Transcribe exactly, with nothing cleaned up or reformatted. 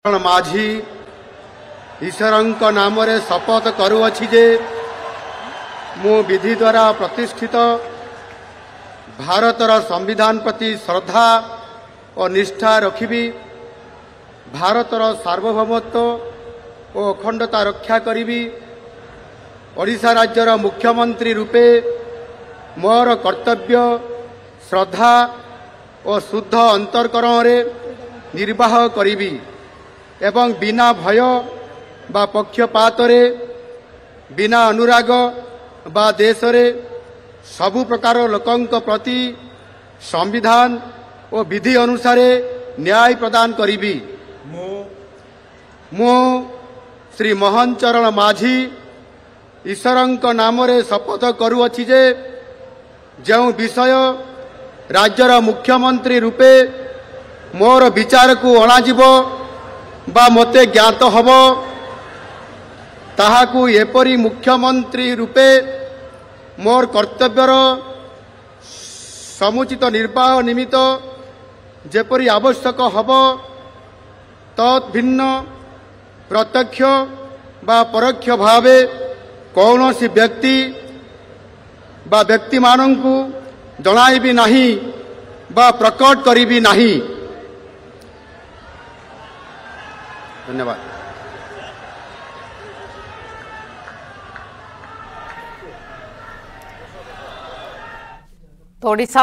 ମାଝୀ ଈଶ୍ୱରଙ୍କ ନାମରେ ଶପଥ କରୁଅଛି ଯେ ମୁଁ ବିଧି ଦ୍ୱାରା ପ୍ରତିଷ୍ଠିତ ଭାରତର ସମ୍ବିଧାନ ପ୍ରତି ଶ୍ରଦ୍ଧା ଓ ନିଷ୍ଠା ରଖିବି, ଭାରତର ସାର୍ବଭୌମତ୍ୱ ଓ ଅଖଣ୍ଡତା ରକ୍ଷା କରିବି। ଓଡ଼ିଶା ରାଜ୍ୟର ମୁଖ୍ୟମନ୍ତ୍ରୀ ରୂପେ ମୋର କର୍ତ୍ତବ୍ୟ ଶ୍ରଦ୍ଧା ଓ ଶୁଦ୍ଧ ଅନ୍ତଃକରଣରେ ନିର୍ବାହ କରିବି ଏବଂ ବିନା ଭୟ ବା ପକ୍ଷପାତରେ, ବିନା ଅନୁରାଗ ବା ଦ୍ୱେଷରେ ସବୁ ପ୍ରକାର ଲୋକଙ୍କ ପ୍ରତି ସମ୍ବିଧାନ ଓ ବିଧି ଅନୁସାରେ ନ୍ୟାୟ ପ୍ରଦାନ କରିବି। ମୁଁ ମୁଁ ଶ୍ରୀ ମୋହନ ଚରଣ ମାଝୀ ଈଶ୍ୱରଙ୍କ ନାମରେ ଶପଥ କରୁଅଛି ଯେ ଯେଉଁ ବିଷୟ ରାଜ୍ୟର ମୁଖ୍ୟମନ୍ତ୍ରୀ ରୂପେ ମୋର ବିଚାରକୁ ଅଣାଯିବ ବା ମୋତେ ଜ୍ଞାତ ହେବ, ତାହାକୁ ଏପରି ମୁଖ୍ୟମନ୍ତ୍ରୀ ରୂପେ ମୋର କର୍ତ୍ତବ୍ୟର ସମୁଚିତ ନିର୍ବାହ ନିମିତ୍ତ ଯେପରି ଆବଶ୍ୟକ ହେବ, ତତ୍ ଭିନ୍ନ ପ୍ରତ୍ୟକ୍ଷ ବା ପରୋକ୍ଷ ଭାବେ କୌଣସି ବ୍ୟକ୍ତି ବା ବ୍ୟକ୍ତିମାନଙ୍କୁ ଜଣାଇବି ନାହିଁ ବା ପ୍ରକଟ କରିବି ନାହିଁ। ଧନ୍ୟବାଦ। ତ ଓଡ଼ିଶା